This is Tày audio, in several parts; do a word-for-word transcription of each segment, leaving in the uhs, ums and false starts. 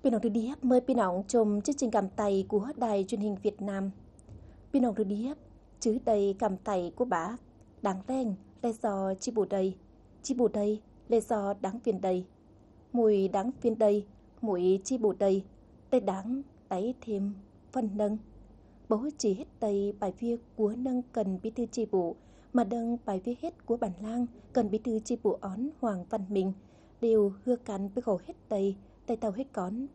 Phi nọng rư điếp, mời phi nọng chôm chương trình cảm tải của Đài Truyền hình Việt Nam. Phi nọng rư điếp, chứ đây cảm tải của bác: Đảng leng, lẽ do chi bộ đây, chi bộ đây, lẽ do đảng viên đây, muội đảng viên đây, muội chi bộ đây, tây đảng, tây thêm phần nâng. Bố chỉ hết đây bài viết của nâng cần bí thư chi bộ, mà đâng bài viết hết của bản lang cần bí thư chi bộ ón Hoàng Văn Minh, đều hưa cắn với khổ hết đây, tay tàu hết con.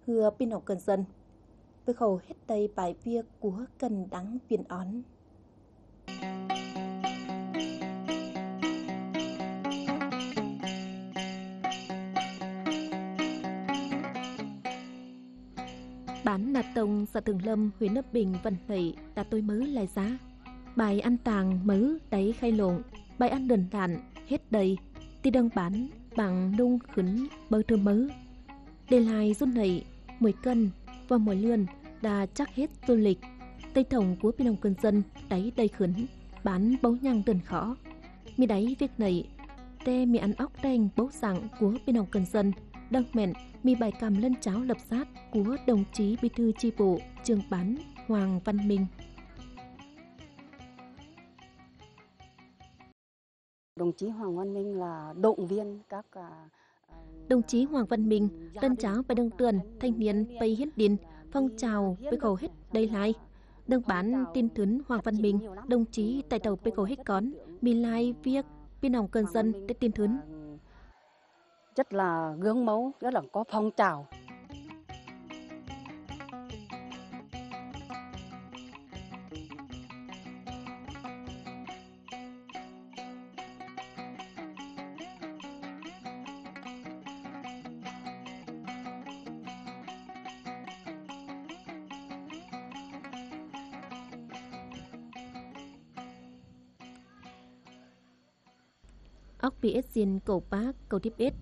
Hưa phi nọng cần dân, với khổ hết đây bài viết của cần đảng viên ón. Bản Nà Tông, xã Thượng Lâm, huyện Lâm Bình, Văn Lệ, đã tôi mớ lai giá. Bài ăn tàng mớ đáy khay lộn, bài ăn đơn giản, hết đây, ti đăng bản, bằng nung khửn bơ trưa mớ. Để lai rút nảy, muội cân và muội lươn đã chắc hết du lịch. Tây thống của phi nọng cần dân đáy đầy khửn, bản bấu nhăng đơn khó. Mi đáy việc nảy, tê mi ăn óc đen bấu sặng của phi nọng cần dân, đăng mẹn mi bài căm lân cháo lập sát của đồng chí bí thư chi bộ, trưởng bản Hoàng Văn Minh. Đồng chí Hoàng Văn Minh là động viên các, à, à, Đồng chí Hoàng Văn Minh, lân cháo pay đăng tươn thanh niên pay hiến điện, phong trào pay khổ hết đây lai. Đăng bản tin thứn Hoàng Văn Minh, đồng chí tại đầu pay khổ hết con, mi lai việc phi nọng cần dân để tin thứn. Rất là gương mẫu, rất là có phong trào. Ốc pi ết xin cậu bác, cậu điếp ết,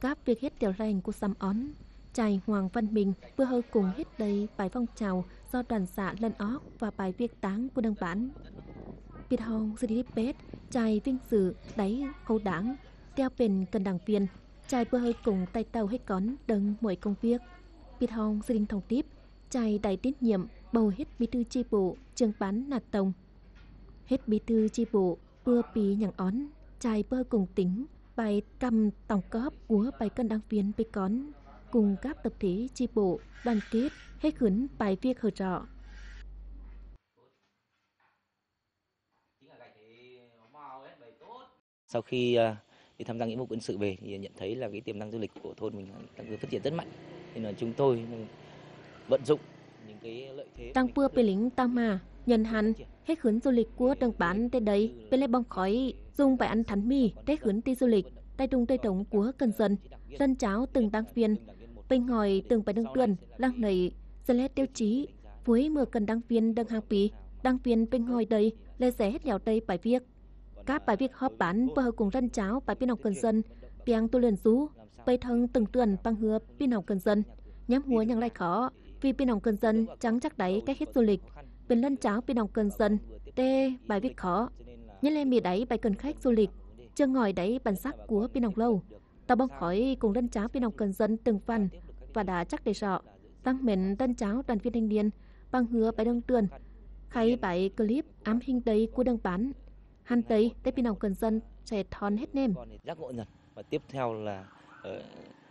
cáp việc hết điều lành của Săm Ón. Chài Hoàng Văn Minh, bơ hơ cùng hết đây bài phong trào do đoàn xã lân óc và bài việc táng của đương bản. Biệt hong sư đi điếp ết, chài vinh dự đáy khâu đảng, theo pền cần đảng viên, chài bơ hơ cùng tay tàu hết cón đâng muội công việc. Biệt hong sư đinh thông điếp, chài đáy tín nhiệm, bầu hết bí thư chi bộ, trưởng bản nạt tổng. Hết bí thư chi bộ, bơ pi nhặng ón, chài bơ cùng tỉnh, bài căm tổng cóp của bài cân đảng viên bê cón, cùng các tập thể chi bộ, đoàn kết, hết khửn bài việc hở trọ. Sau khi, à, đi tham gia nghĩa vụ quân sự về thì nhận thấy là cái tiềm năng du lịch của thôn mình đang phát triển rất mạnh. Nên là chúng tôi vận dụng những cái lợi thế. Tăng pưa pê lính tao mà, nhận hẳn, hết khửn du lịch của đồng bản tê đấy, pê lê bong khói, dùng bài ăn thắn mi, tết khửn ti du lịch, tay trung tay trống của cần dân, lân cháo từng đảng viên, bình hỏi từng bài đương tuyên, lăng nầy, sẽ lê tiêu chí, với mưa cần đảng viên đương hàng pi, đảng viên bình hỏi đây, lê sẽ hết lẹo đây bài việc. Các bài việc họp bản bơ hơ cùng lân cháo bài pin học cần dân, piang tu luyện rú, bày thông từng tuần bằng hứa pin học cần dân. Nhắm hùa nhằng lai khó, vì pin học cần dân chẳng chắc đáy cách hết du lịch. Pin lân cháo pin học cần dân, tê bài việc khó. Nhất lẽ mì đáy bài cần khách du lịch, chưa ngỏi đáy bản sắc của pin học lâu. Tao bong khỏi cùng lân cháo pin học cần dân từng phần và đã chắc để sọ. Tăng mến lân cháo đoàn viên thanh niên, bằng hứa bài đương tuyên. Khay bài clip ám hình đây của đương bản. Hăn tây, tết pin học cần dân sẽ thon hết nem. Giác ngộ dần. Và tiếp theo là, ờ,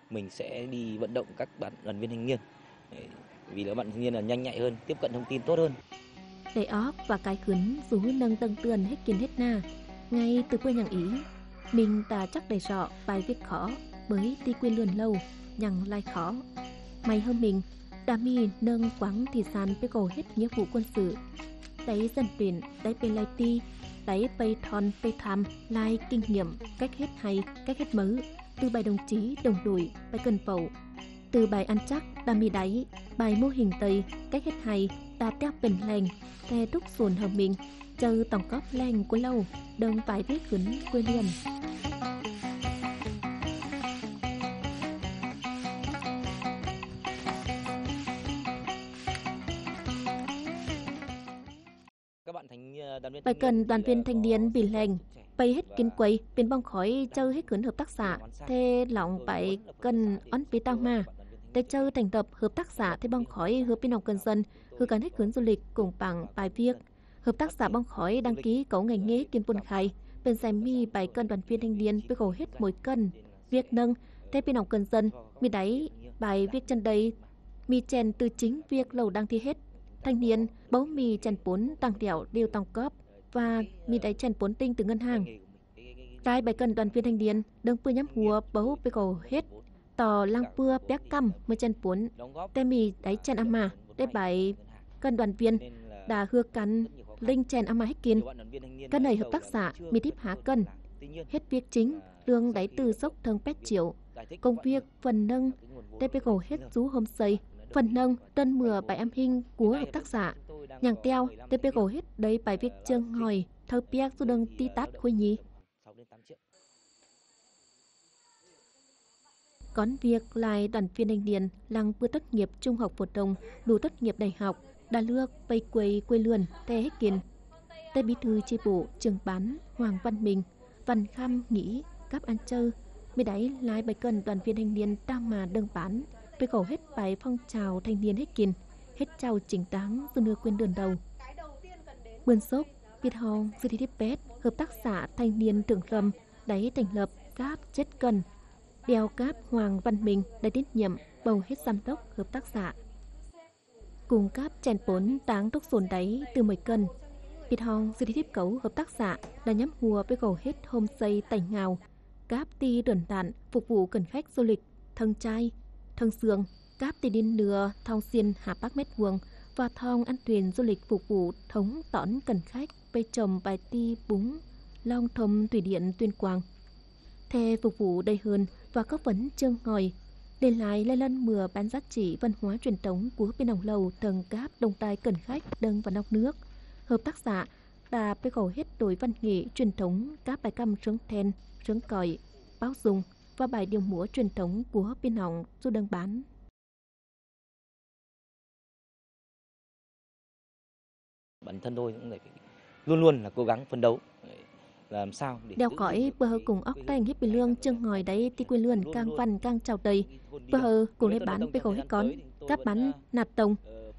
mình sẽ đi vận động các bạn đoàn viên thanh niên. Vì là bạn thanh niên là nhanh nhạy hơn, tiếp cận thông tin tốt hơn. Đẩy ók và cái khứn dù nâng tâng tươn hết kiên hết na. Ngay từ bữa nhằng ý, mình ta chắc đẩy sọ bài việc khó, bởi ti quyền luận lâu, nhằng lai khó. Mày hơn mình, đa mi nâng quảng thị sản bê cầu hết nghĩa vụ quân sự. Đáy dân tuyển, đáy bê lai ti, đáy bê thon bê tham, lai kinh nghiệm, cách hết hay, cách hết mớ, từ bài đồng chí, đồng đội, bài cần pậu. Từ bài ăn chắc, đa mi đáy, bài mô hình tây, cách hết hay, đa tép bình lành, the đúc sùn hờ mình, chơ tổng cóp leng của lâu, đơng bài viết khửn quê liên. Bài cần đoàn viên thanh niên bình lành, bày hết kiến quầy, pin bong khỏi, chơ hết khửn hợp tác xã, the lòng bài cần ón pi tao ma. Te châo thành lập hợp tác xã thê păng khỏi hươ pê nọng cần dân, hươ căn hếc hưn du lịch củng pẳng pài viêc. Hợp tác xã păng khỏi đăng ký cấu ngành nghề kiên buôn khai, pên seng mì pài cần đoàn viên thanh niên pê khảu hết mối cần, viêc nâng, thê pê nọng cần dân, mì đảy pài viêc chân đây, mì chèn từ chính việc lẩu đang thi hết. Thanh niên bấu mì chèn bốn tăng điệu điều tổng góp và mì đảy chèn bốn tinh từ ngân hàng. Trai pài cần đoàn viên thanh niên, đơng pưa nhắm hua bấu pê khảu hết tọ lăng pưa piác căm mười chèn puốn, te mì đảy chèn ama, đảy pài cần đoàn viên, đa hưa căn linh chèn ama hết kin. Căn này hợp tác xã mì típ hả cần, hết việc chính, lương đảy từ sốc thơng pét triệu. Công việc phần nâng, đảy pê khảu hết dú hôm xây, phần nâng, đơn mưa pài âm hình của hợp tác xã. Nhàng teo, đảy pê khảu hết đảy pài việc chương hỏi, thâu piác dú đơng ti tát khối nhí. Cón việc lai đoàn viên thanh niên lăng pưa tốt nghiệp trung học phổ thông, lụa tốt nghiệp đại học, đa lước pây quây quê lượn, te hếc kiên. Te bí thư chi bộ, trưởng bản Hoàng Văn Minh, Văn Khăm nghĩ cắp ăn chơ, mì đảy lai pài cần đoàn viên thanh niên ta mà đơn bản, pê khảu hết pài phong trào thanh niên hếc kiên, hết chào chính đáng dư nưa quyền đơn đầu. Bươn sốc, Việt Hồng, Sư Thi Điếp Pét, hợp tác xã thanh niên Thượng Lâm, đảy thành lập cáp chết cần. Đeo cáp Hoàng Văn Minh đảy tín nhiệm bầu hết giám đốc hợp tác xã. Cung cấp chèn bốn táng đốc sôn đảy từ mười cân. Việt Hồng, Sư Thi Điếp Cấu, hợp tác xã đảy nhắm hua pê khảu hết hôm xây tảy ngào, cáp ti đơn đạn phục vụ cần khách du lịch, thâng chai, thâng sương, cáp ti đin nưa thong xiên hả pác mét vuông, và thong ăn thuyền du lịch phục vụ thống tỏn cần khách pây chôm pài ti búng, long thôm thủy điện Tuyên Quang. Thê phục vụ đầy hơn và góp phần chương ngòi, để lại lai lăn mưa bán giá trị văn hóa truyền thống của bên hồng lầu thâng cáp đồng tài cần khách đơng và nóc nước. Hợp tác xã đã pê khảu hết đội văn nghệ truyền thống cáp bài căm sướng then, sướng còi, báo dung và bài điệu múa truyền thống của bên hồng du đơng bán. Bản thân tôi cũng phải luôn luôn là cố gắng phấn đấu, làm sao để Đeo khỏi pơ hơ cùng óc teng hiếp bi lương chương ngòi đảy ti quê lươn cang văn cang chào tây. Pơ hơ cùng đảy bán pê khảu hết cón, cắp bán nạp tông.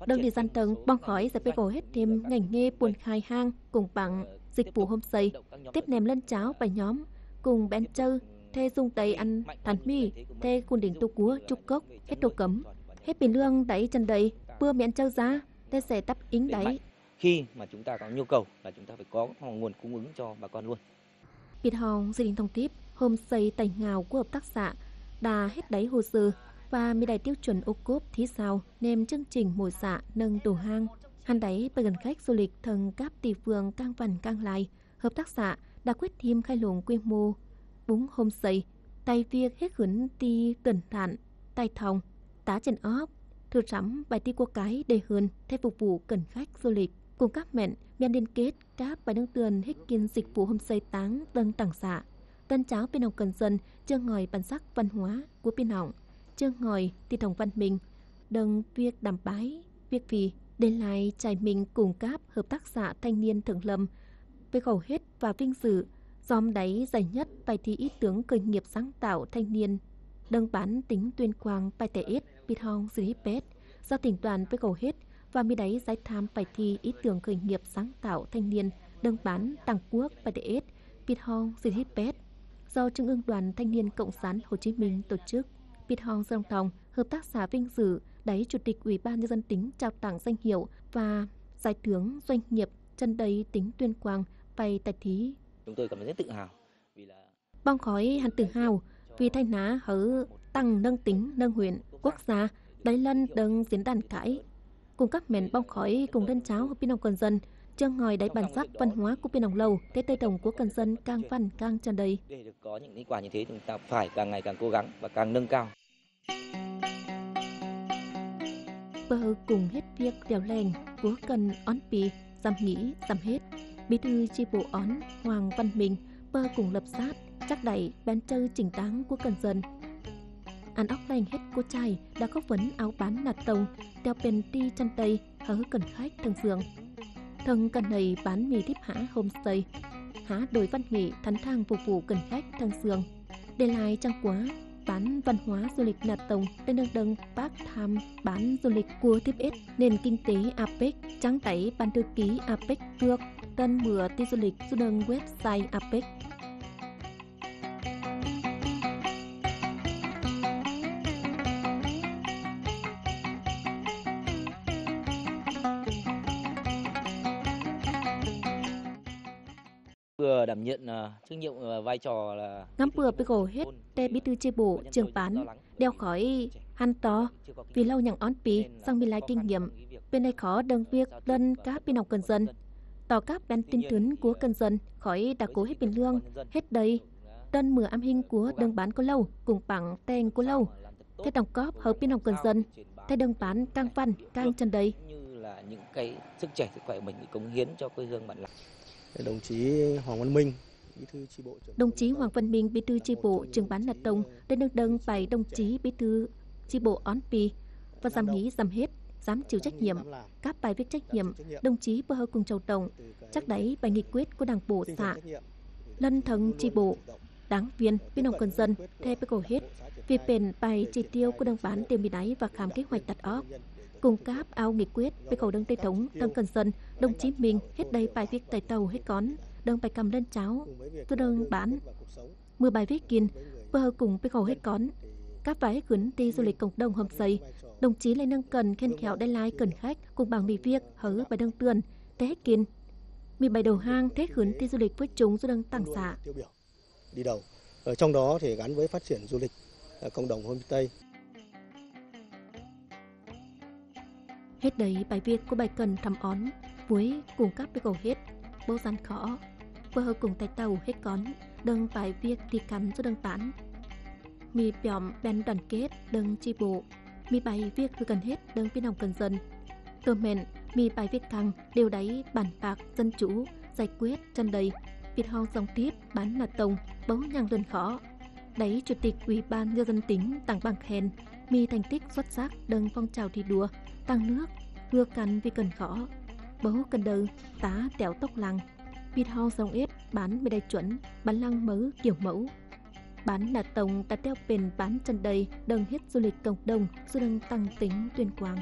Đơng đi gian tông, bong khỏi giải pê khảu hết thêm ngành nghề buôn khai hang, cùng bằng dịch vụ homestay, tiếp nèm lân cháo bài nhóm, cùng bén chơ, thê dùng tây ăn thắn mì, thê cung đỉnh tu cúa, trúc cốc, hết đồ cấm. Hết bi lương đảy chân đảy, pưa miễn chơ giá, thê sẽ đáp ứng đảy. Khi mà chúng ta có nhu cầu là chúng ta phải có nguồn cung ứng cho bà con luôn. Việt Hồng, Gia Đình Thông Típ, homestay Tây Ngào của hợp tác xã đã hết đảy hồ sơ và mì đảy tiêu chuẩn ô cốp thí sao, nêm chương trình mùa xạ nâng đồ hang. Hăn đảy pơ gần khách du lịch thâng cáp ti phương cang văn cang lai, hợp tác xã đã quyết tâm khai lồng quy mô búng homestay, tại việc hiếc hửn ti tần thản, tại thòng, tá trên óp, thư sắm bài ti cua cái đề hơn, thay phục vụ cần khách du lịch. Cùng các mẹn, miền liên kết, các bài nâng tường hiếc kiên dịch vụ homestay táng đơn tặng xã. Tân cháo bên hồng cần dân, chương ngòi bản sắc văn hóa của bên hồng, chương ngòi ti thông văn minh, đâng việc đảm bái, việc vì để lại trải mình cùng các hợp tác xã thanh niên Thượng Lâm, với khẩu hết và vinh dự, dòm đáy giải nhất bài thi ý tưởng khởi nghiệp sáng tạo thanh niên, đơng bản tỉnh Tuyên Quang bài tẻ ết, bịt hong xử lý pet, do tỉnh đoàn với khẩu hết và mi đáy giải tham bài thi ý tưởng khởi nghiệp sáng tạo thanh niên, đơng bản toàn quốc bài tẻ ết, bịt hong xử lý pet, do Trung ương Đoàn Thanh niên Cộng sản Hồ Chí Minh tổ chức. Bịt hong song tòng, hợp tác xã vinh dự đáy Chủ tịch Ủy ban Nhân dân tỉnh trao tặng danh hiệu và giải thưởng doanh nghiệp chân đầy tỉnh Tuyên Quang bài tài thí. Chúng tôi cảm thấy rất tự hào vì là Bong khỏi hăn tự hào vì thay nả hở tăng nâng tỉnh, nâng huyện, quốc gia, đáy lân đâng diễn đàn cải. Cùng các mẹn bong khỏi cùng đơn cháo hợp nông cần dân, chơ ngòi đáy bản sắc văn hóa của bên hồng lâu, Tết Tây Đồng của cần dân càng văn càng chân đầy. Để được có những kết quả như thế, chúng ta phải càng ngày càng cố gắng và càng nâng cao. Pơ cùng hết việc lèo leng, của cần ón pi, dăm nghĩ, dăm hết. Bí thư chi bộ ón Hoàng Văn Minh, pơ cùng lập sát, chắc đảy, ban chơ chỉnh đáng của cần dân. Ăn óc leng hết cô trai đã có phấn áo bán nạt tông, đeo pên ti chân tây, hở cần khách thâng sương. Thâng cần nầy bán mì típ hả homestay, hả đội văn nghệ thắn thang phục vụ cần khách thâng sương. Để lại chăng quá, Bản văn hóa du lịch Nà Tông đang đơng đơng pác tham bản du lịch cua tiếp ết nền kinh tế a pếc, chắng đảy ban thư ký a pếc Phước, đơng mửa ti du lịch su đơng website a pếc. Vừa đảm nhiệm, ờ, trách nhiệm, ờ, vai trò là Ngắm pưa bê gồ hết, te bí thư chi bộ, trưởng bản, đeo khỏi hăn to, vì lâu nhằng ón pi, song mì lai kinh nghiệm, bên đây khó đơng việc lân cáp bên nòng cần dân. Tỏ cáp bên tin tưởng của cần dân, khỏi đã cố hết bên lương, hết đây. Đơn mưa âm hình của đơng bản cô lâu, cùng bằng tên cô lâu. Thế tổng cóp hợp bên nòng cần dân, thế đơng bản căng văn, căng chân đây. Như là những cái sức trẻ, sức khỏe của mình cống hiến cho quê hương bạn làm. Đồng chí Hoàng Văn Minh, bí thư chi bộ trưởng Đồng chí Hoàng Văn Minh, bí thư chi bộ, trưởng bản Nà Tông, đã đơng đơng bài đồng chí bí thư chi bộ ón pi, và dám hí, dám hết, dám chịu trách nhiệm. Các bài viết trách nhiệm, đồng chí bơ hơ cùng châu tổng, chắc đáy bài nghị quyết của đảng bộ xã, lân thâng chi bộ, đảng viên, bên nòng cần dân, theo bê gồ hết, vì pện bài chỉ tiêu của đảng bản tiêu mì đáy và khám kế hoạch đặt óc. Cung cáp ao nghị quyết, bê gồ đơng tê thống, thâng cần dân, đồng chí Minh, hết đây bài viết tài tàu, hết cón, đơng bài cầm lên cháo, tu đơng bản. Mười bài viết kin, bơ hơ cùng bê gồ hết cón. Các bài khuyến ti du lịch cộng đồng hôm xây, đồng chí Lê Năng Cần khen khéo đe lai cần khách, cùng bằng mì việc, hớ bài đơng tươn, thế hết kin. Mì bài đầu hang, thế khuyến ti du lịch với chúng du đơng tặng xã. Đi đầu. Ở trong đó thì gắn với phát triển du lịch, ờ, cộng đồng homestay. Hết đây bài viết của bài cần thăm ón, với cùng các bê gồ hết, bố gian khó, bơ hơ cùng tài tàu hết cón, đơng bài viết đi cắn du đơng tán. Mì piỏm bên đoàn kết, đơng chi bộ, mì bài viết hư cần hết, đơng bên nòng cần dân. Tơ mẹn, mì bài viết căng, điều đáy bản bạc dân chủ, giải quyết chân đầy, Việt Hong dòng tiếp, bản Nà Tông, bố nhang luận khó. Đáy Chủ tịch Ủy ban Nhân dân tỉnh tặng bằng khen, mì thành tích xuất sắc đơng phong trào thi đua, tăng nước, hưa căn vì cần khó. Bố cần đơ, tá tẻo tốc lăng, Việt Hong dòng ếp, bản mì đài chuẩn, bản lăng mớ kiểu mẫu. Bản Nà Tông đã theo pện bản chân đầy, đơng hết du lịch cộng đồng, du đơng tăng tỉnh Tuyên Quang.